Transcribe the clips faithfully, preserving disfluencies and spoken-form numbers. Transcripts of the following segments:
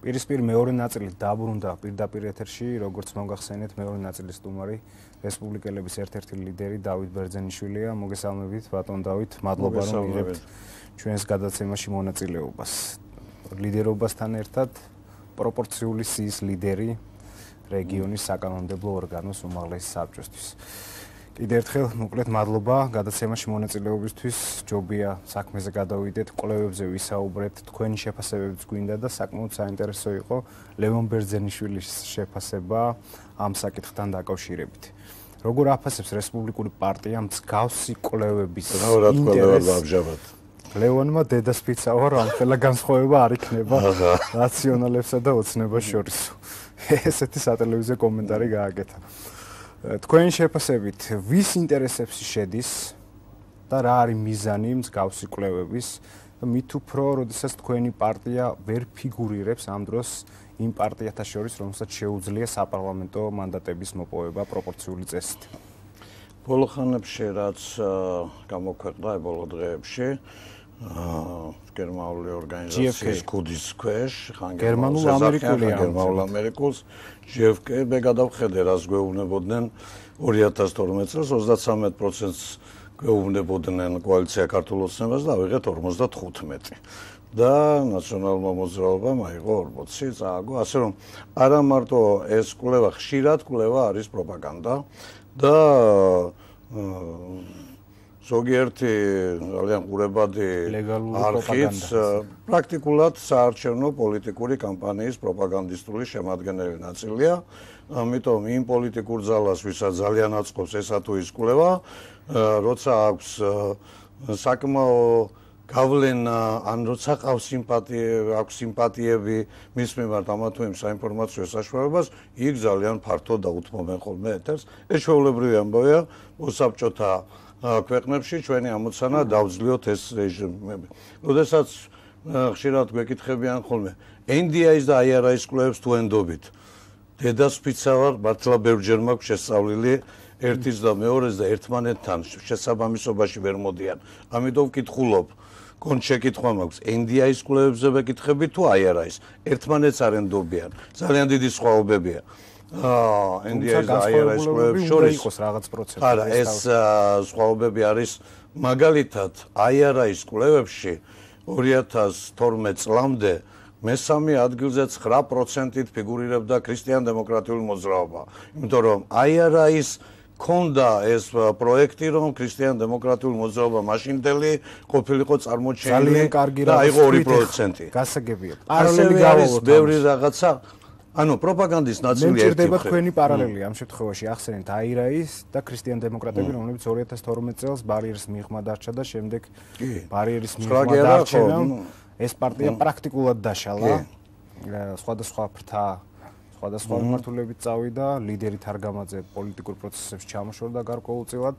პირისპირ მეორე ნაწილით დაბრუნდა პირდაპირ ეთერში, როგორც მოგახსენეთ, მეორე ნაწილის სტუმარი რესპუბლიკელების ერთ-ერთი ლიდერი დავით ბერძენიშვილია. მოგესალმებით, ბატონ დავით, მადლობა რომ მიღებთ ჩვენს გადაცემაში მონაწილეობას. ლიდერობასთან ერთად პროპორციული სიის ლიდერი რეგიონის საკანონმდებლო ორგანოს უმაღლესი საბჭოსთვის. კიდევ ერთხელ მოკლედ მადლობა გადაცემაში მონაწილეობისთვის. ჯობია საქმეზე გადავიდეთ, კვლევებზე ვისაუბრეთ, თქვენი შეფასებებიც გვინდა და საკმაოდ საინტერესო იყო ლევონ ბერძენიშვილის შეფასება ამ საკითხთან დაკავშირებით. როგორ აფასებს რესპუბლიკური პარტია მსგავსი კვლევების ინტერესს? ლევონმა დედასფიცა ვარ, ამხელა განსხვავება არ იქნება რაციონალებსა და ოცნებას შორის. ესეთი სატელევიზიო კომენტარი გააკეთა. თქვენი შეფასებით, ვის ინტერესებში შედის და რა არის მიზანი მსგავსი კვლევების და მით უფრო, როდესაც თქვენი პარტია ვერ ფიგურირებს ამ დროს იმ პარტიათა შორის, რომელსაც შეუძლია საპარლამენტო მანდატების მოპოვება პროპორციული წესით. ბოლო ხანებში რაც გამოქვეყნდა ბოლო დღეებში გერმანული ორგანიზაციის ქუდის ქვეშ, გერმანულ ამერიკული გერმანულ ამერიკულს ჯი ეფ კე-ზე გადავხედე, რას გვეუბნებოდნენ ორი ათას თორმეტ წელს ოცდათვრამეტ პროცენტს გვეუბნებოდნენ კოალიცია ქართულ ოცნებას და ავიღეთ ორმოცდათხუთმეტი. და ნაციონალურმა მოძრაობამ აიღო ორმოცი, წააგო, ასე რომ არა მარტო ეს კვლევა, ხშირად კვლევა არის პროპაგანდა და ზოგიერთი ძალიან ყურებადი არხიც პრაქტიკულად საარჩევნო პოლიტიკური კამპანიის პროპაგანდისტული შემადგენელი ნაწილია. ამიტომ იმ პოლიტიკურ ძალას, ვისაც ძალიან აწყობს ესა თუ ის კვლევა, როცა აქვს საკმაო გავლენა, ან როცა ყავს სიმპათიები, აქვს სიმპათიები მის მიმართ ამა თუ იმ საინფორმაციო საშუალებას, იქ ძალიან ფართო დაუთმობენ ხოლმე ეთერს. ეს ჩვეულებრივი ამბავია მოსაბჭოთა ქვეყნებში ჩვენი ამოცანა დავძლიოთ ეს რეჟიმები. როდესაც ხშირად გვეკითხებიან ხოლმე ენ დი აის და აი არ აის კვლევებს თუ ენდობით. დედასფიცა ვარ, მართლა ბევრჯერ მაქვს შესწავლილი ერთის და მეორეს და ერთმანეთთან შესაბამისობაში ვერ მოდიან. ამიტომ ვკითხულობ, კონჩ შეკითხვა მაქვს, ენ დი აის კვლევებზე ვეკითხები თუ აი არ აის. ერთმანეთს არ ენდობიან. ძალიან დიდი სხვაობებია. აა ენ დი აის და აი არ აის კვლევებს შორის იყოს რაღაც პროცესი. არა, ეს სხვაობები არის მაგალითად აი არ აის კვლევებში ორი ათას თორმეტ წლამდე მესამე ადგილზე ცხრა პროცენტით ფიგურირებდა ქრისტიან-დემოკრატიული მოძრაობა. იმიტომ რომ აი არ აის ქონდა ეს პროექტი, რომ ქრისტიან-დემოკრატიული მოძრაობა მაშინდელი ყოფილიყო წარმოჩენილი და აიღო ორი პროცენტი. გასაგებია. პარალელი არის ბევრი რაღაცა. ანუ პროპაგანდის ნაწილი ერთი. მერდება თქვენი პარალელი ამ შემთხვევაში ახსენეთ აი არ აის და ქრისტიან-დემოკრატები, რომლებიც ორი ათას თორმეტ წელს ბარიერის მიღმა დარჩა და შემდეგ ბარიერის მიღმა დარჩენამ ეს პარტია პრაქტიკულად დაშალა. სხვადასხვა ფრთა, სხვადასხვა მიმართულებით წავიდა, ლიდერი თარგამაძე პოლიტიკურ პროცესებში ჩამოშორდა გარკვეულწილად.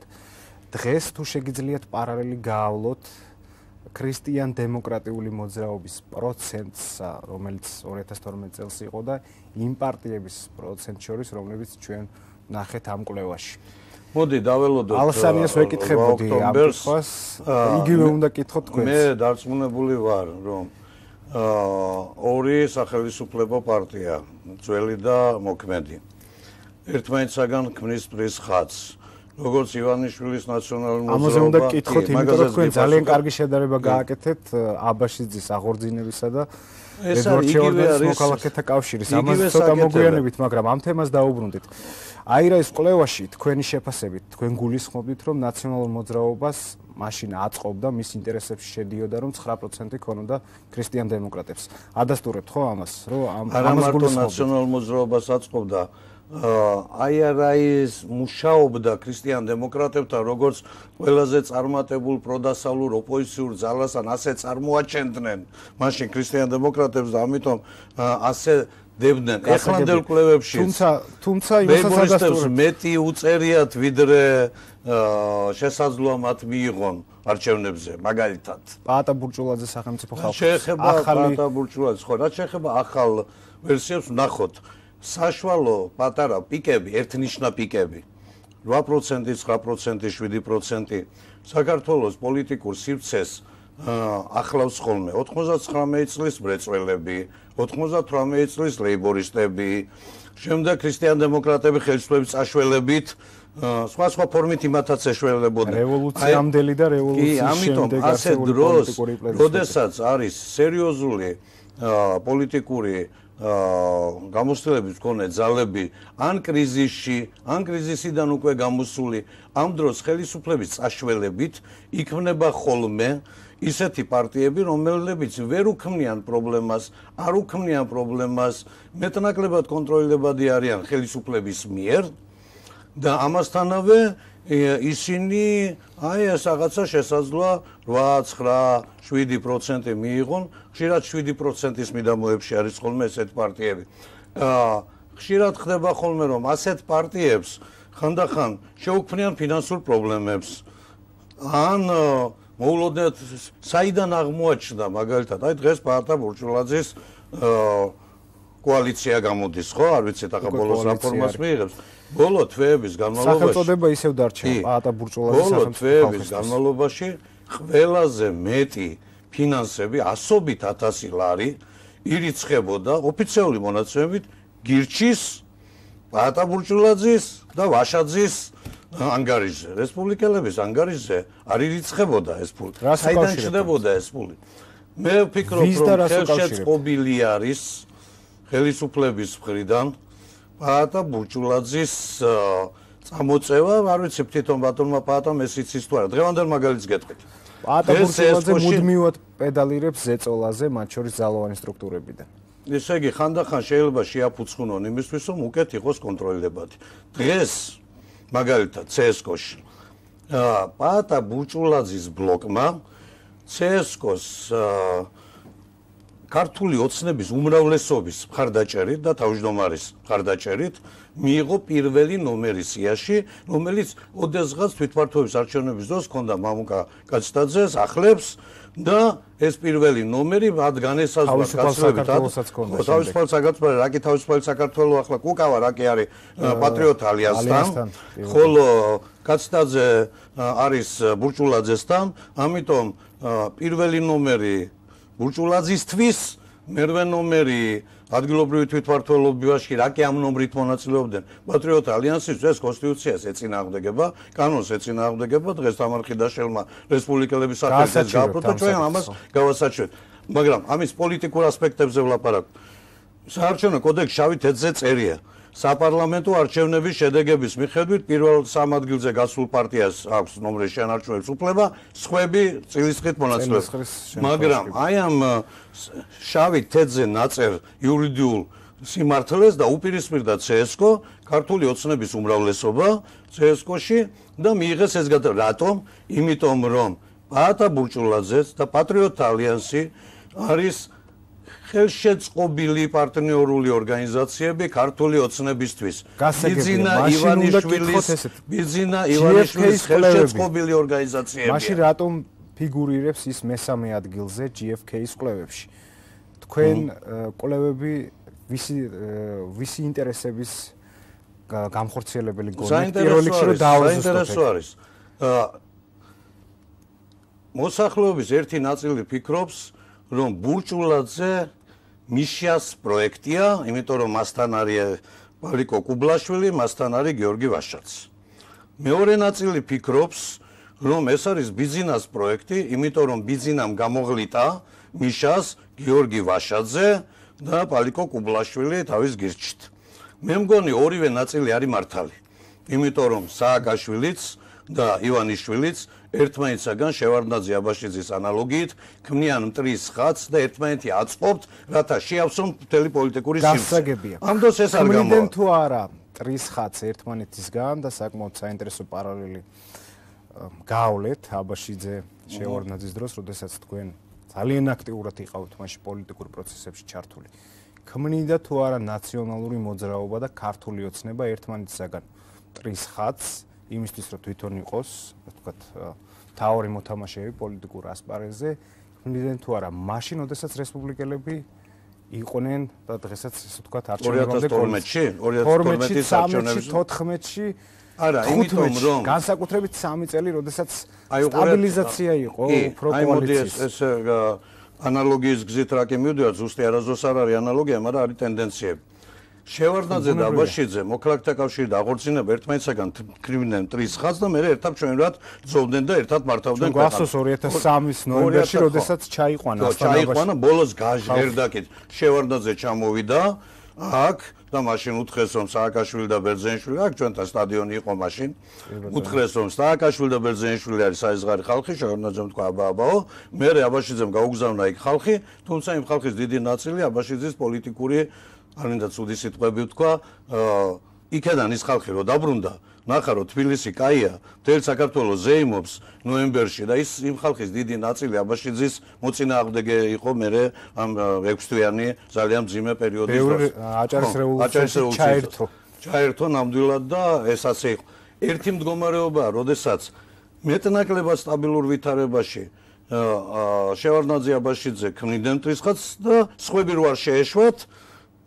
დღეს თუ შეგიძლიათ პარალელი გაავლოთ ქრისტიან-დემოკრატიული მოძრაობის პროცენტს, რომელიც ორი ათას თორმეტ წელს იყო და იმ პარტიების პროცენტს შორის, რომლებიც ჩვენ ნახეთ ამ კვლევაში. მოდი დაველოდოთ ალსანიას ვეკითხებოდი ამ კითხვას, იგივე უნდა კითხოთ თქვენს. მე დარწმუნებული ვარ, რომ ორი სახელმწიფო პარტია, ძველი და მოქმედი, ერთმანეთსაგან ქმნის პრის ხაზს. როგორც ივანიშვილის ნაციონალური მოძრაობა. ამაზე უნდა კითხოთ, იმიტომ რომ თქვენ ძალიან კარგი შედარება გააკეთეთ აბაშიძის აღორძინებისა და ედვარდ მოქალაქეთა კავშირის. ამაზე ცოტა მოგვიანებით, მაგრამ ამ თემას დაუბრუნდით. აი არ აის კვლევაში თქვენი შეფასებით, თქვენ გულისხმობთ, რომ ნაციონალურ მოძრაობას მაშინ აწყობდა, მის ინტერესებში შედიოდა, რომ ცხრა პროცენტი ქონოდა ქრისტიან-დემოკრატებს. ადასტურებთ ხო ამას, რომ ამას გულისხმობთ? ნაციონალურ მოძრაობას აწყობდა აი არ აის მუშაობდა ქრისტიან-დემოკრატებთან, როგორც ყველაზე წარმატებულ პროდასავლურ ოპოზიციურ ძალას, ან ასე წარმოაჩენდნენ მაშინ ქრისტიან-დემოკრატებს და ამიტომ ასე დებდნენ ახლანდელ კვლევებში. თუმცა, თუმცა იმასაც ადასტურებთ, მეტი უწერიათ, ვიდრე შესაძლოა მათ მიიღონ არჩევნებზე, მაგალითად. პაატა ბურჭულაძე სახელმწიფო ხალხის შეეხება პაატა ბურჭულაძეს, ხო, რაც შეეხება ახალ ვერსიებს ვნახოთ. საშუალო პატარა პიკები, ერთნიშნა პიკები, რვა პროცენტი, ცხრა პროცენტი, შვიდი პროცენტი საქართველოს პოლიტიკურ სივრცეს ახლავს ხოლმე ოთხმოცდათვრამეტი წლის მრეწველები, ოთხმოცდათვრამეტი წლის ლეიბორისტები, შემდეგ ქრისტიან-დემოკრატები ხელისუფლების წაშველებით სხვა სხვა ფორმით იმათაც ეშველებოდნენ. რევოლუციამდელი და რევოლუციის შემდეგ არსებული პოლიტიკური პროცესი. როდესაც არის სერიოზული პოლიტიკური გამოცდილების მქონე ძალები ან კრიზისში, ან კრიზისიდან უკვე გამოსული, ამ დროს ხელისუფლების წაშველებით იქმნება ხოლმე ისეთი პარტიები, რომლებიც ვერ უქმნიან პრობლემას, არ უქმნიან პრობლემას, მეტნაკლებად კონტროლებადი არიან ხელისუფლების მიერ და ამასთანავე ისინი აი ეს რაღაცა შესაძლოა რვა, ცხრა, შვიდი პროცენტი მიიღონ, ხშირად შვიდი პროცენტის მიდამოებში არის ხოლმე ესეთ პარტიები. ხშირად ხდება ხოლმე რომ ასეთ პარტიებს ხანდახან შეუქმნიან ფინანსურ პრობლემებს ან მოულოდნელად საიდან აღმოაჩნდა მაგალითად აი დღეს პაატა ბურჭულაძის კოალიცია გამოდის ხო არ ვიცით ახლა ბოლოს რაფორმას მიიღებს ბოლო თვეების განმავლობაში სახელწოდება ისევ დარჩა პაატა ბურჭულაძის ბოლო თვეების განმავლობაში ყველაზე მეტი ფინანსები ასობით ათასი ლარი ირიცხებოდა ოფიციალური მონაცემებით გირჩის პაატა ბურჭულაძის და ვაშაძის ანგარიშზე, რესპუბლიკელების ანგარიშზე არ ირიცხებოდა ეს ფული. საიდან ჩნდებოდა ეს ფული? მე ვფიქრობ, რომ ხელშეწყობილი არის ხელისუფლების მხრიდან პაატა ბურჭულაძის წამოწევა, არ ვიცი თვითონ ბატონმა პაატამ ეს იცის თუ არა. დღევანდელ მაგალითს გეტყვით. პაატა ბურჭულაძე მუდმივად პედალირებს ზეწოლაზე, მათ შორის ძალოვანი სტრუქტურებიდან. ესე იგი, ხანდახან შეიძლება შეაფუცხუნონ იმისთვის, რომ უკეთ იყოს კონტროლებადი. დღეს მაგალითად ცესკოში პაატა ბურჭულაძის ბლოკმა ცესკოს ქართული ოცნების უმრავლესობის მხარდაჭერით და თავმჯდომარის მხარდაჭერით მიიღო პირველი ნომერი სიაში, რომელიც ოდესღაც თვითმმართველობის არჩევნების დროს ჰქონდა მამუკა კაცტაძეს, ახლებს და ეს პირველი ნომერი მათ განესაზღვრა კაცობრიობით თავისუფალ საქართველოს რაკი თავისუფალი საქართველოს ახლა კუკავა რაკი არის პატრიოტ ალიანსთან ხოლო კაცტაძე არის ბურჭულაძესთან ამიტომ პირველი ნომერი ბურჭულაძისთვის მერვე ნომერი ადგილობრივი თვითმმართველობაში რაკი ამ ნომრით მონაწილეობდნენ პატრიოტ ალიანსის ეს კონსტიტუციას ეწინააღმდეგება კანონს ეწინააღმდეგება დღეს თამარხიდაშელმა რესპუბლიკელების სახელით გააფრთხილდა ჩვენ ამას გავასაჩვენებთ მაგრამ ამის პოლიტიკურ ასპექტებზე ვლაპარაკობ საარჩევნო კოდექსში შავი თეთრზე წერია საპარლამენტო არჩევნების შედეგების მიხედვით პირველ სამ ადგილზე გასულ პარტიას აქვს ნომრის შენარჩუნების უფლება, სხვები წილისხმით მონაწილეობს. მაგრამ აი ამ შავი თეთრზე ნაწერ იურიდიულ სიმართლეს და უპირისპირდა ცესკო, ქართული ოცნების უმრავლესობა ცესკოში და მიიღეს ეს გადაწყვეტილება. რატომ? იმიტომ რომ პაატა ბურჭულაძეს და პატრიოტ ალიანსი არის ხელშეწყობილი პარტნიორული ორგანიზაციები ქართული ოცნებისთვის. ბიძინა ივანიშვილის ბიძინა ივანიშვილის ხელშეწყობილი ორგანიზაციები. მაშინ რატომ ფიგურირებს ის მესამე ადგილზე ჯი ეფ კეის კვლევებში? თქვენ კვლევები ვისი ვისი ინტერესების გამხორციელებელი გონით პირველ რიგში რომ დაავადოს არის. მოსახლეობის ერთი ნაწილი ფიქრობს რომ ბურჭულაძე მიშას პროექტია, იმიტომ რომ მასთან არის ვალიკო კუბლაშვილი, მასთან არის გიორგი ვაშაძე. მეორე ნაწილი ფიქრობს, რომ ეს არის ბიძინას პროექტი, იმიტომ რომ ბიძინამ გამოღლიტა მიშას გიორგი ვაშაძე და ვალიკო კუბლაშვილი თავის გირჩით. მე მგონი ორივე ნაწილი არის მართალი, იმიტომ რომ სააკაშვილიც და ივანიშვილიც ერთმანეთსაგან შევარდნაძე აბაშიძის ანალოგიით ქმნიან მტრის ხატს და ერთმანეთი აწყობთ, რათა შეავსონ მთელი პოლიტიკური სიმსაგებია. ამ დროს ეს არ გამოვა. ქმნიან თუ არა მტრის ხატს ერთმანეთისგან და საკმაოდ საინტერესო პარალელი გაავლეთ აბაშიძე შევარდნაძის დროს, როდესაც თქვენ ძალიან აქტიურად იყავთ მაშინ პოლიტიკურ პროცესებში ჩართული. ქმნიდა თუ არა ნაციონალური მოძრაობა და ქართული ოცნება ერთმანეთისგან მტრის ხატს იმისთვის რომ თვითონ იყოს, ვთქვათ, თავი მოთამაშეები პოლიტიკურ ასპარეზზე, ქმნიდნენ თუ არა, მაშინ, როდესაც რესპუბლიკელები იყვნენ და დღესაც, ასე ვთქვათ, არჩევნებამდე ორ ათას თორმეტში, ორ ათას თორმეტის არჩევნებში, თოთხმეტში არა, იმიტომ რომ განსაკუთრებით სამი წელი, როდესაც სტაბილიზაცია იყო უფრო კოალიციის. ეს ანალოგიის გზით რა კი მივდივართ, ზუსტი არასდროს არ არის ანალოგია, მაგრამ არის ტენდენციები. შევარდნაძე და აბაშიძე მოქალაქეთა კავშირი და აღორძინება ერთმანეთსაგან კრივდნენ მტრის ხაზს და მერე ერთად ჩვენურად ძოვდნენ და ერთად მართავდნენ ქვეყანას. გვახსოვს ორი ათას სამის ნოემბერში, როდესაც ჩაიყვანა ასტანაში. ჩაიყვანა, ბოლოს გაჟღერდაკით. შევარდნაძე ჩამოვიდა აქ და მაშინ უთხრეს რომ სააკაშვილი და ბერძენიშვილი აქ ჩვენთან სტადიონი იყო მაშინ. უთხრეს რომ სააკაშვილი და ბერძენიშვილი არის საიზღარი ხალხი, შევარდნაძემ თქვა აბა აბაო, მერე აბაშიძემ გაუგზავნა იქ ხალხი, თუმცა იმ ხალხის დიდი ნაწილი აბაშიძის პოლიტიკური არ მინდა ცუდი სიტყვები ვთქვა, იქედან ის ხალხი რო დაბრუნდა, ნახა რომ თბილისი კაია, მთელი საქართველო ზეიმობს ნოემბერში და ის იმ ხალხის დიდი ნაწილი აბაშიძის მოწინააღმდეგე იყო მერე ამ ექვსთვიანი ძალიან მძიმე პერიოდის დროს. აჭარის რევოლუციაში ჩაერთო. ჩაერთო ნამდვილად და ეს ასე იყო. ერთი მდგომარეობაა, როდესაც მეტნაკლებად სტაბილურ ვითარებაში შევარდნაძე აბაშიძე ქმნიდნენ მტრის ხაზს და სხვები რო არ შეეშვათ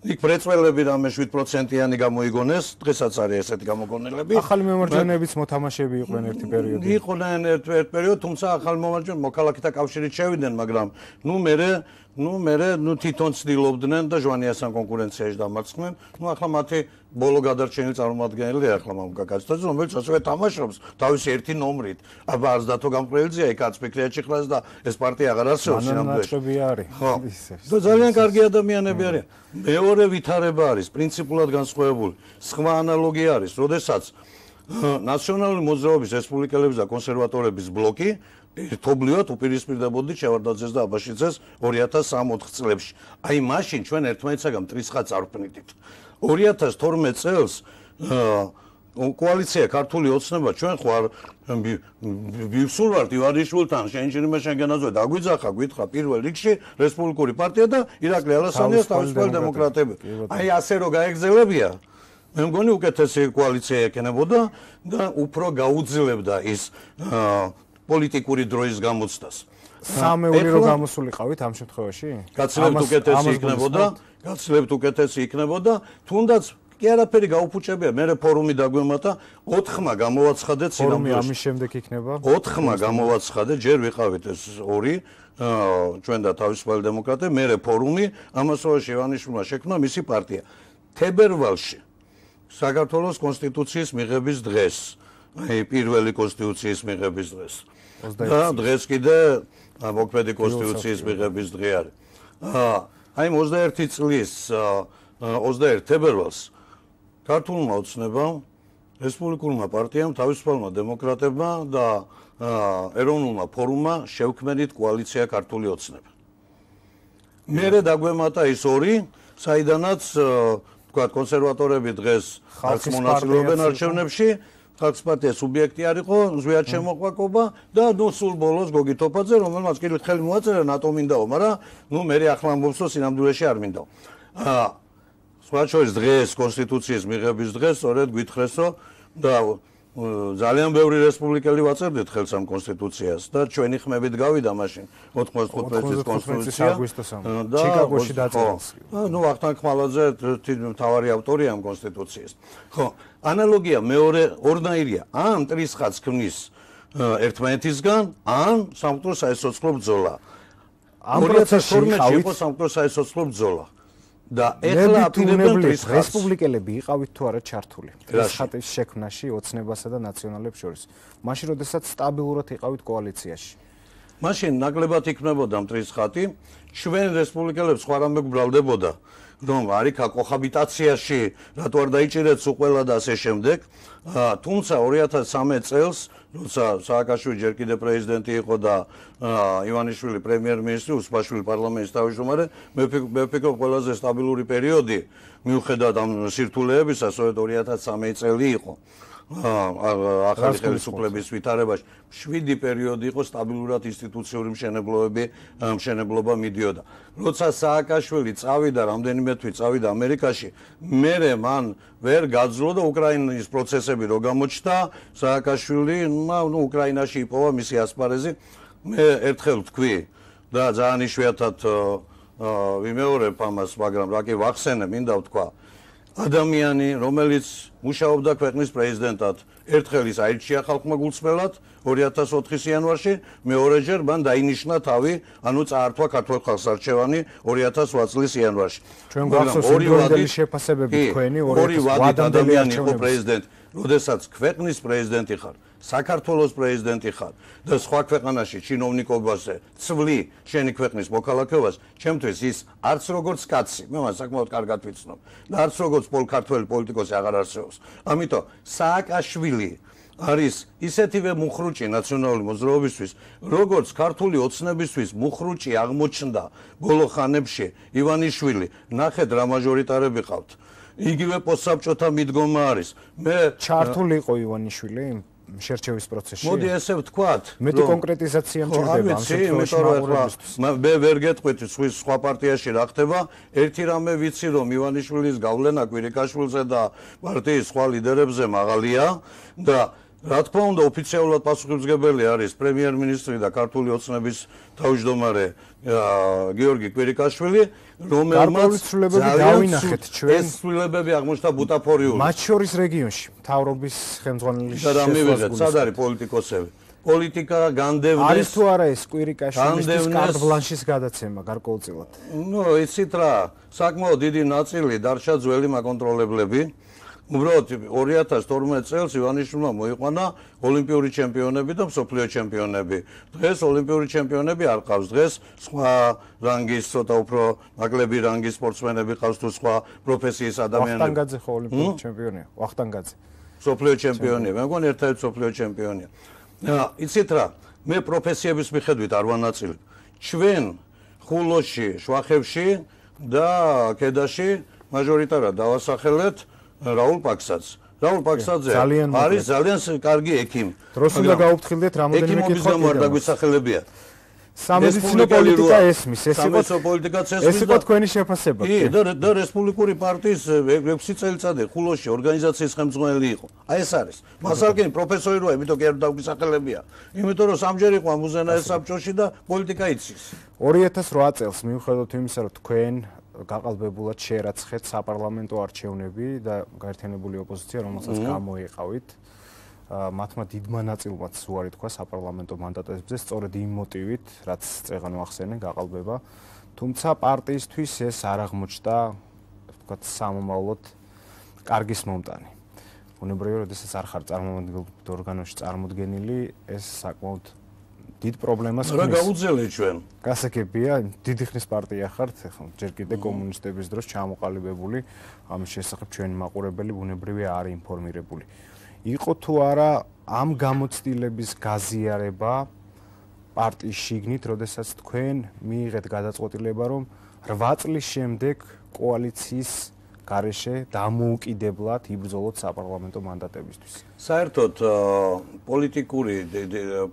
იქ პრეწველები რამე შვიდ პროცენტიანი გამოიგონეს, დღესაც არის ესეთი გამოგონილები. ახალი მემარჯვენეებიც მოთამაშეები იყვნენ ერთი პერიოდი. იყვნენ ერთ პერიოდ, თუმცა ახალი მემარჯვენე მოქალაქეთა კავშირით შევიდნენ, მაგრამ ნუ მერე, ნუ მერე, ნუ თვითონ ცდილობდნენ და ჟვანიასთან კონკურენციაში დამარცხდნენ. ნუ ახლა მათი ბოლო გადარჩენილი წარმომადგენელი ახლა მამუკა კაცთაძე, რომელიც ასევე თამაშობს თავისი ერთი ნომრით. აბა არცდათო გამყრელიძეა, იქაც ფიქრია ჭიხლას და ეს პარტია აღარ არსებობს სინამდვილეში. არის. ხო. და ძალიან კარგი ადამიანები არიან. მეორე ვითარება არის პრინციპულად განსხვავებული. სხვა ანალოგია არის, როდესაც ნაციონალური მოძრაობის რესპუბლიკელების და კონსერვატორების ბლოკი ერთობლივად უპირისპირდებოდი შევარდნაძეს და აბაშიძეს ორი ათას სამი-ოთხ წლებში. აი მაშინ ჩვენ ერთმანეთსაგან მტრის ხაზს არ ვქმნით. ორი ათას თორმეტ წელს კოალიცია ქართული ოცნება ჩვენ ხო არ ვივსულ ვართ ივანიშვილთან შენჭირიმე შენგენაძე დაგვიძახა გვითხრა პირველ რიგში რესპუბლიკური პარტია და ირაკლი ალასანიას თავისუფალი დემოკრატები. აი ასე რო გაეგზელებია მე მგონი უკეთესი კოალიცია ექნებოდა და უფრო გაუძლებდა ის პოლიტიკური დროის გამოცდას. სამეული რო გამოსულიყავით ამ შემთხვევაში? გაცილებით უკეთესი იქნებოდა, გაცილებით უკეთესი იქნებოდა, თუნდაც კი არაფერი გაუფუჭებია, მე ფორუმი დაგვემატა, ოთხმა გამოვაცხადეთ სინამდვილეში. ფორუმი ამის შემდეგ იქნება? ოთხმა გამოვაცხადეთ, ჯერ ვიყავით ეს ორი, ჩვენ და თავისუფალი დემოკრატები, მე ფორუმი, ამასობაში ივანიშვილმა შექმნა მისი პარტია. თებერვალში საქართველოს კონსტიტუციის მიღების დღეს, აი პირველი კონსტიტუციის მიღების დღეს. და დღეს კიდე მოქმედი კონსტიტუციის მიღების დღე არის. აი ოცდაერთი წლის ოცდაერთი თებერვალს ქართულმა ოცნებამ, რესპუბლიკურმა პარტიამ, თავისუფალმა დემოკრატებმა და ეროვნულმა ფორუმმა შევქმნით კოალიცია ქართული ოცნება. მერე დაგვემატა ის ორი, საიდანაც თქვა კონსერვატორები დღეს ხალხს მონაწილეობენ არჩევნებში, ხალხის პარტია სუბიექტი არ იყო, ზვიად შემოყვაკობა და ნუ სულ ბოლოს გოგი თოფაძე, რომელმაც კიდევ ხელი მოაწერა ნატო მინდაო, მაგრამ ნუ მერე ახლა ამბობს, რომ სინამდვილეში არ მინდაო. სხვა შორის დღეს კონსტიტუციის მიღების დღეს სწორედ გვითხრეს, რომ და ძალიან ბევრი რესპუბლიკელი ვაწერდით ხელს ამ კონსტიტუციას და ჩვენი ხმებით გავიდა მაშინ ოთხმოცდათხუთმეტი წლის კონსტიტუცია და ჩიკაგოში დაწერილს. ნუ ვახტანგ ხმალაძე მთავარი ავტორია ამ კონსტიტუციის. ხო, ანალოგია მეორე ორნაირია. ან მტრის ხაზს ქმნის ერთმანეთისგან, ან სამკვდრო საეცოცხლო ბრძოლა. ამ პროცესში იყო სამკვდრო საეცოცხლო ბრძოლა. და ეხლა აპირებენ მტრის ხაზს. რესპუბლიკელები იყავით თუ არა ჩართული ეს ხატის შექმნაში ოცნებასა და ნაციონალებს შორის. მაშინ როდესაც სტაბილურად იყავით კოალიციაში. მაშინ ნაკლებად იქნებოდა მტრის ხატი, ჩვენ რესპუბლიკელებს სხვა რამე გვბრალდებოდა, რომ არიქა კოჰაბიტაციაში რატო არ დაიჭირეთ სულ ყველა და ასე შემდეგ. თუმცა ორი ათას სამი წელს როცა სააკაშვილი ჯერ კიდევ პრეზიდენტი იყო და ივანიშვილი პრემიერ-მინისტრი, უსპაშვილი პარლამენტის თავმჯდომარე, მე ვფიქრობ ყველაზე სტაბილური პერიოდი მიუხედავად ამ სირთულეებისა, სწორედ ორი ათას სამი წელი იყო. ახალი ხელისუფლების ვითარებაში შვიდი პერიოდი იყო სტაბილურად ინსტიტუციური მშენებლობები მშენებლობა მიდიოდა. როცა სააკაშვილი წავიდა, რამდენიმე თვით წავიდა ამერიკაში, მერე მან ვერ გაძლო და უკრაინის პროცესები რო გამოჩნდა, სააკაშვილი ნუ უკრაინაში იპოვა მისი ასპარეზი. მე ერთხელ ვთქვი და ძალიან იშვიათად ვიმეორებ ამას, მაგრამ რა კი ვახსენე, მინდა ვთქვა. ადამიანი, რომელიც მუშაობდა ქვეყნის პრეზიდენტად, ერთხელ ის აირჩია ხალხმა გულწრფელად ორი ათას ოთხის იანვარში, მეორეჯერ მან დაინიშნა თავი, ანუ წაართვა ქართულ ხალხს არჩევანი ორი ათას ოთხ წლის იანვარში. ჩვენ გვახსოვს იმდროინდელი შეფასებები თქვენი ორი ვადით ადამიანი იყო პრეზიდენტი, როდესაც ქვეყნის პრეზიდენტი ხარ, საქართველოს პრეზიდენტი ხარ და სხვა ქვეყანაში ჩინოვნიკობაზე ცვლი შენი ქვეყნის მოქალაქეობას, ჩემთვის ის არც როგორც კაცი, მე მას საკმაოდ კარგად ვიცნობ და არც როგორც პოლკართველი პოლიტიკოსი აღარ არსებობს. ამიტომ სააკაშვილი არის ისეთივე მუხრუჭი ნაციონალური მოძრაობისთვის, როგორც ქართული ოცნებისთვის მუხრუჭი აღმოჩნდა ბოლო ხანებში ივანიშვილი, ნახეთ რა მაჟორიტარები ყავთ. იგივე პოსტსაბჭოთა მიდგომა არის. მე ჩართული იყო ივანიშვილი შერჩევის პროცესში. მოდი ესე ვთქვათ, მეტი კონკრეტიზაცია მჭირდება ამ შემთხვევაში. მე ვერ გეტყვით სხვა პარტიაში რა ხდება. ერთი რამე ვიცი, რომ ივანიშვილის გავლენა კვირიკაშვილზე და პარტიის სხვა ლიდერებზე მაღალია და რა თქმა უნდა ოფიციალურად პასუხისმგებელი არის პრემიერ-მინისტრი და ქართული ოცნების თავმჯდომარე გიორგი კვირიკაშვილი, რომელმაც დავინახეთ ჩვენ ეს ცვლილებები აღმოჩნდა ბუტაფორიული. მათ შორის რეგიონში მთავრობის ხელმძღვანელის შესაძლებლობა. სად არის პოლიტიკოსები? პოლიტიკა განდევნეს არის თუ არა ეს კვირიკაშვილის კარტ ბლანშის გადაცემა გარკვეულწილად? ნუ იცით რა, საკმაოდ დიდი ნაწილი დარჩა ძველი მაკონტროლებლები. უბრალოდ ორი ათას თორმეტ წელს ივანიშვილმა მოიყვანა ოლიმპიური ჩემპიონები და მსოფლიო ჩემპიონები. დღეს ოლიმპიური ჩემპიონები არ ყავს, დღეს სხვა რანგის, ცოტა უფრო ნაკლები რანგის სპორტსმენები ყავს თუ სხვა პროფესიის ადამიანები. ვახტანგაძე ხო ოლიმპიური ჩემპიონია? ვახტანგაძე. მსოფლიო ჩემპიონია, მე მგონი ერთადერთი მსოფლიო ჩემპიონია. იცით რა, მე პროფესიების მიხედვით არ ვანაწილებ. ჩვენ ხულოში, შვახებში და კედაში მაჟორიტარად დავასახელეთ რაულ პაქსაძე. რაულ პაქსაძე არის ძალიან კარგი ექიმი. დროს უნდა გაუფრთხილდეთ რამოდენიმე კითხვა დაგვისახელებია. სამედიცინო პოლიტიკა ესმის, ეს იყო პოლიტიკაც ესმის. ეს იყო თქვენი შეფასება. კი, და და რესპუბლიკური პარტიის ექვსი წელიწადი ხულოში ორგანიზაციის ხელმძღვანელი იყო. აი ეს არის. მასალკენ პროფესორი როა, იმიტომ კი არ დაგვისახელებია. იმიტომ რომ სამჯერ იყო ამუზენაეს საბჭოში და პოლიტიკა იცის. ორი ათას რვა წელს მიუხედავად იმისა, რომ თქვენ გაყალბებულად შეერაცხეთ საპარლამენტო არჩევნები და გაერთიანებული ოპოზიცია, რომელსაც გამოიყავით, მათმა დიდმა ნაწილმა უარი თქვა საპარლამენტო მანდატებზე, სწორედ იმ მოტივით, რაც წეგან ვახსენე, გაყალბება. თუმცა პარტიისთვის ეს არ აღმოჩნდა, ვთქვათ, სამომავლოდ კარგის მომტანი. უნებრივია, როდესაც არ ხარ წარმომადგენელ ორგანოში წარმოდგენილი, ეს საკმაოდ დიდ პრობლემას ხმის. რა გაუძლე ჩვენ? გასაგებია, დიდი ხნის პარტია ხართ, ახლა ჯერ კიდე კომუნისტების დროს ჩამოყალიბებული, ამის შესახებ ჩვენი მაყურებელი ბუნებრივია არ ინფორმირებული. იყო თუ არა ამ გამოცდილების გაზიარება პარტიის შიგნით, როდესაც თქვენ მიიღეთ გადაწყვეტილება, რომ რვა წლის შემდეგ კოალიციის გარეშე დამოუკიდებლად იბრძოლოთ საპარლამენტო მანდატებისთვის. საერთოდ პოლიტიკური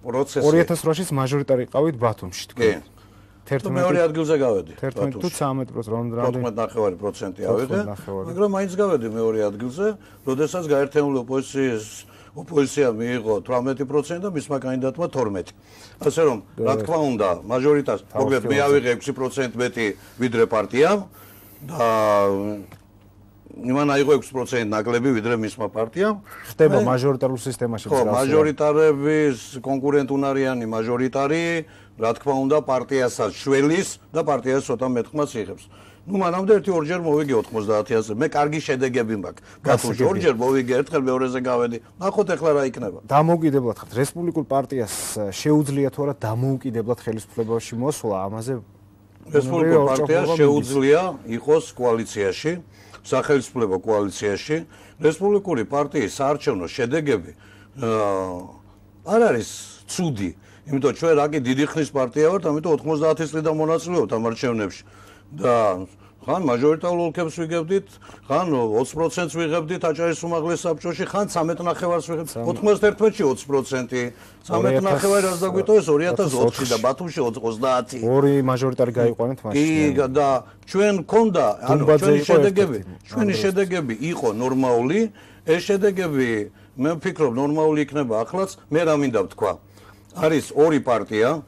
პროცესი ორი ათას რვაშიც მაჟორიტარი ყავით ბათუმში თქვენ. თერთმეტ მეორე ადგილზე გავედი. თერთმეტ თუ ცხრამეტ პროცენტი თოთხმეტ ნახევარი პროცენტი ავიღე. მაგრამ მაინც გავედი მეორე ადგილზე, როდესაც გაერთიანებული ოპოზიციის ოპოზიცია მიიღო თვრამეტი პროცენტი და მისმა კანდიდატმა თორმეტი. ასე რომ, რა თქმა უნდა, მაჟორიტარს მოგეთ მე ავიღე ექვსი პროცენტი მეტი ვიდრე პარტიამ და იმან აიღო ექვსი პროცენტი ნაკლები ვიდრე მისმა პარტიამ. ხდება მაჟორიტარულ სისტემაში. ხო, მაჟორიტარების კონკურენტუნარიანი მაჟორიტარი, რა თქმა უნდა, პარტიასაც შველის და პარტიას ცოტა მეტყმას იღებს. ნუ მანამდე ერთი ორჯერ მოვიგე ოთხმოცდაათი. მე კარგი შედეგები მაქვს. ბათუმში ორჯერ მოვიგე, ერთხელ მეორეზე გავედი. ნახოთ ახლა რა იქნება. დამოუკიდებლად ხართ. რესპუბლიკურ პარტიას შეუძლია თუ არა დამოუკიდებლად ხელისუფლებაში მოსვლა, ამაზე რესპუბლიკურ პარტიას შეუძლია იყოს კოალიციაში, სახელმწიფო კოალიციაში. რესპუბლიკური პარტიის საარჩევნო შედეგები არ არის ცუდი. იმიტომ ჩვენ რაკი დიდი ხნის პარტია ვართ, ამიტომ ოთხმოცდაათი წლიდან მონაწილეობთ ამ არჩევნებში. და ხან მაჟორიტარულ ოლქებს ვიგებდით, ხან ოცი პროცენტს ვიღებდით აჭარის უმაღლეს საბჭოში, ხან ცხრამეტ ნახევარს ვიღებდით. ოთხმოცდაერთში ოცი პროცენტი, ცხრამეტ ნახევარი რაც დაგვიტოვეს ორი ათას ოთხში და ბათუმში ოცდაათი. ორი მაჟორიტარი გაიყვანეთ მაშინ. კი, და ჩვენ მქონდა, ანუ ჩვენი შედეგები, ჩვენი შედეგები იყო ნორმალური, ეს შედეგები მე ვფიქრობ ნორმალური იქნება ახლაც, მე რა მინდა ვთქვა. არის ორი პარტია,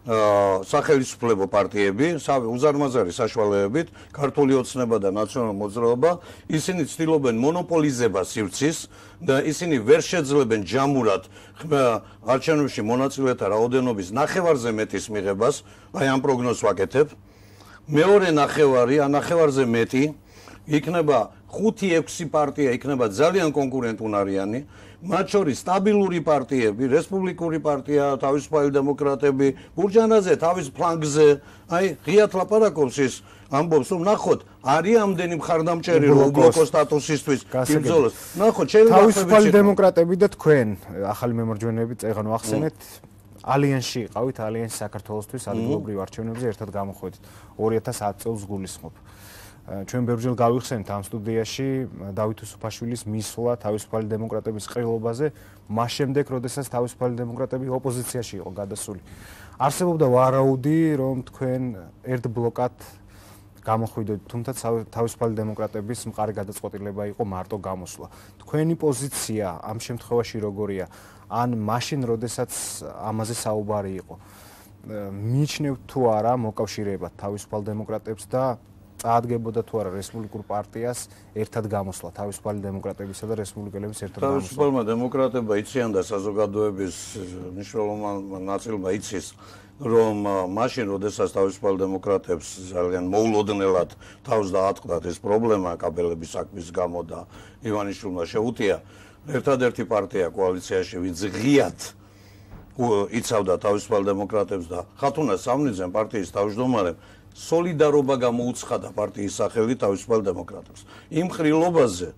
სახელმწიფო პარტიები, უზარმაზარი საშუალებებით, ქართული ოცნება და ნაციონალური მოძრაობა, ისინი ცდილობენ მონოპოლიზებას სივრცის და ისინი ვერ შეძლებენ ჯამურად არჩევნებში მონაწილეთა რაოდენობის ნახევარზე მეტის მიღებას, აი ამ პროგნოზს ვაკეთებ. მეორე ნახევარი, ან ნახევარზე მეტი იქნება ხუთი ექვსი პარტია იქნება ძალიან კონკურენტუნარიანი, მათ შორის სტაბილური პარტიები, რესპუბლიკური პარტია, თავისუფალი დემოკრატები, ბურჯანაძე თავის ფლანგზე, აი ღიად ლაპარაკობს ის ამბობს რომ ნახოთ არის ამდენი მხარდამჭერი რომ უბლოკო სტატუსისთვის იმძოლოს. ნახოთ შეიძლება თავისუფალი დემოკრატები და თქვენ ახალი მემარჯვენეები წეგანო ახსენეთ ალიანსში იყავით, ალიანსი საქართველოსთვის ადგილობრივ არჩევნებზე ერთად გამოხვედით ორი ათას ათი წელს გულისხმობ. ჩვენ ბევრჯერ გავიხსენეთ ამ სტუდიაში დავით უსუფაშვილის მისვლა თავისუფალი დემოკრატების ყრილობაზე, მას შემდეგ, როდესაც თავისუფალი დემოკრატები ოპოზიციაში იყო გადასული. არსებობდა ვარაუდი, რომ თქვენ ერთ ბლოკად გამოხვიდოთ, თუმცა თავისუფალი დემოკრატების მყარი გადაწყვეტილება იყო მარტო გამოსვლა. თქვენი პოზიცია ამ შემთხვევაში როგორია? ან მაშინ, როდესაც ამაზე საუბარი იყო, მიიჩნევთ თუ არა მოკავშირეებად თავისუფალ დემოკრატებს და წაადგებოდა თუ არა რესპუბლიკურ პარტიას ერთად გამოსვლა თავისუფალი დემოკრატებისა და რესპუბლიკელების ერთად გამოსვლა. თავისუფალმა დემოკრატებმა იციან და საზოგადოების მნიშვნელოვან ნაწილმა იცის, რომ მაშინ, როდესაც თავისუფალ დემოკრატებს ძალიან მოულოდნელად თავს დაატყდათ ეს პრობლემა კაბელების საქმის გამო და ივანიშვილმა შეუტია, ერთადერთი პარტია კოალიციაში, ვინც ღიად იცავდა თავისუფალ დემოკრატებს და ხათუნა სამნიძემ პარტიის თავმჯდომარემ სოლიდარობა გამოუცხადა პარტიის სახელით თავისუფალ დემოკრატებს. იმ ყრილობაზე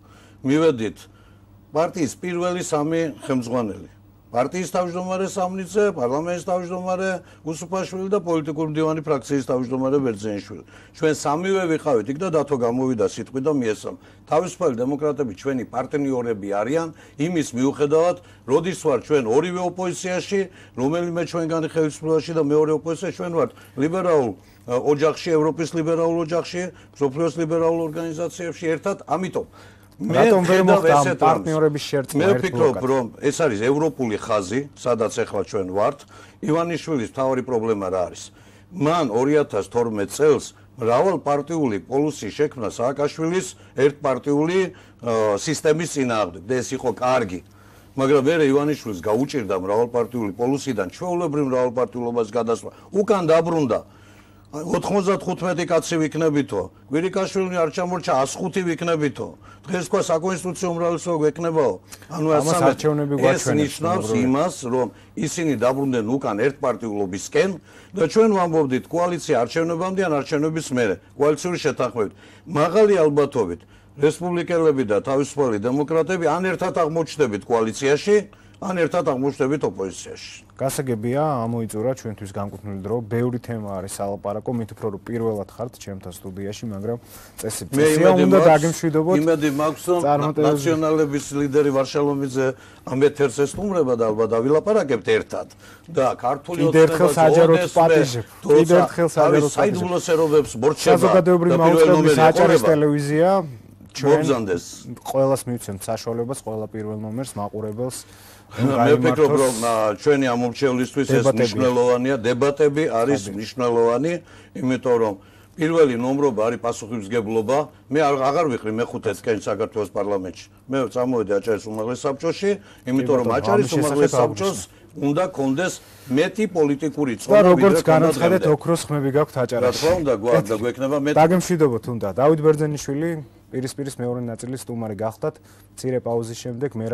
მივედით პარტიის პირველი სამი ხელმძღვანელი. პარტიის თავმჯდომარე სამნიძე, პარლამენტის თავმჯდომარე უსუფაშვილი და პოლიტიკური მდივანი ფრაქციის თავმჯდომარე ბერძენიშვილი. ჩვენ სამივე ვიყავით იქ და დათო გამოვიდა სიტყვი და მიესალმა. თავისუფალი დემოკრატები ჩვენი პარტნიორები არიან იმის მიუხედავად, როდის ვარ ჩვენ ორივე ოპოზიციაში, რომელიმე ჩვენგანი ხელისუფლებაში და მეორე ოპოზიციაში ჩვენ ვართ ლიბერალურ ოჯახში, ევროპის ლიბერალურ ოჯახში, მსოფლიოს ლიბერალურ ორგანიზაციებში ერთად, ამიტომ მე ვხედავ პარტნიორების შერწყმა ერთ ბლოკად. მე ვფიქრობ, რომ ეს არის ევროპული ხაზი, სადაც ახლა ჩვენ ვართ. ივანიშვილის მთავარი პრობლემა რა არის? მან ორი ათას თორმეტ წელს მრავალპარტიული პოლუსი შექმნა სააკაშვილის ერთპარტიული სისტემის წინააღმდეგ და ეს იყო კარგი. მაგრამ მე ივანიშვილს გაუჭირდა მრავალპარტიული პოლუსიდან ჩვეულებრივ მრავალპარტიულობას გადასვლა. უკან დაბრუნდა ოთხმოცდახუთი კაცი ვიქნებითო, გვირიკაშვილი არ ჩამორჩა ას ხუთი ვიქნებითო. დღეს თქვა საკონსტიტუციო უმრავლესობა გვექნებაო. ანუ ეს ნიშნავს იმას, რომ ისინი დაბრუნდნენ უკან ერთპარტიულობისკენ და ჩვენ ვამბობდით კოალიცია არჩევნებამდე ან არჩევნების მერე, კოალიციური შეთანხმებით. მაღალი ალბათობით რესპუბლიკელები და თავისუფალი დემოკრატები ან ერთად აღმოჩნდებით კოალიციაში, ან ერთად აღმოჩნდებით ოპოზიციაში. გასაგებია, ამოიწურა ჩვენთვის განკუთვნილი დრო, ბევრი თემა არის სალაპარაკო, მით უფრო რომ პირველად ხართ ჩემთან სტუდიაში, მაგრამ წესი წესია უნდა დაგემშვიდობოთ. იმედი მაქვს, რომ ნაციონალების ლიდერი ვარშალომიძე ამ ეთერს ესტუმრება და ალბათ დავილაპარაკებთ ერთად. და ქართული ოცნება საჯაროდ პატიჟებ. კიდევ ერთხელ საჯაროდ პატიჟებ. საიდუმლო სერობებს მორჩება. საზოგადოებრივი მაუწყებლობის საჯარის ტელევიზია ჩვენ ყველას მივცემთ საშუალებას, ყველა პირველ ნომერს მაყურებელს მე ვფიქრობ, რომ ჩვენი ამომრჩევლისთვის ეს მნიშვნელოვანია, დებატები არის მნიშვნელოვანი, იმიტომ რომ პირველი ნომრობა არის პასუხისმგებლობა. მე აღარ ვიყრი მეხუთე წელი საქართველოს პარლამენტში. მე წამოვედი აჭარის უმაღლეს საბჭოში, იმიტომ რომ აჭარის უმაღლეს საბჭოს უნდა კონდეს მეტი პოლიტიკური წონა, ვიდრე როგორც განაცხადეთ, ოქროს ხმები გაქვთ აჭარაში. რა თქმა უნდა, გვაქვს და გვექნება მეტი. დაგემშვიდობოთ უნდა. დავით ბერძენიშვილი პირისპირის მეორე ნაწილის სტუმარი გახდათ. მცირე პაუზის შემდეგ მე